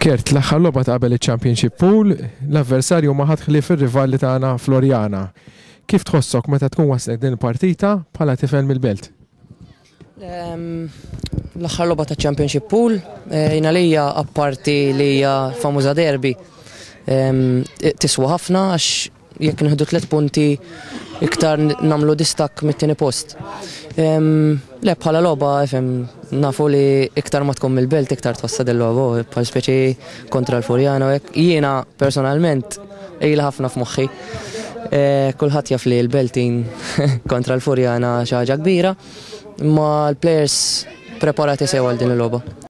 Kurt, l-aħħar logħba ta' qabel iċ-Championship Pool, l-avversarju ma ħadd ħlief ir-rivali tagħna Floriana. Kif tħossok meta tkun waslet din il-partita bħala tifel mill-belt? L-aħħar logħba ta' Championship Pool, jiena lija apparti li hija famuża derby, tiswa ħafna għax jekk nieħdu 3 punti iktar nagħmlu distakk mit-tieni post. Le, bħala logħba, ifhem, nafu li iktar ma tkun mill-belt iktar tħossha din logħba, bħal speċi kontra l-Furjana u hekk. Jiena personalment ilha ħafna f'moħħi. Kulħadd jaf li l-Beltin kontra l-Furjana xi ħaġa kbira, imma l-players preparati sew għal din il-logħba.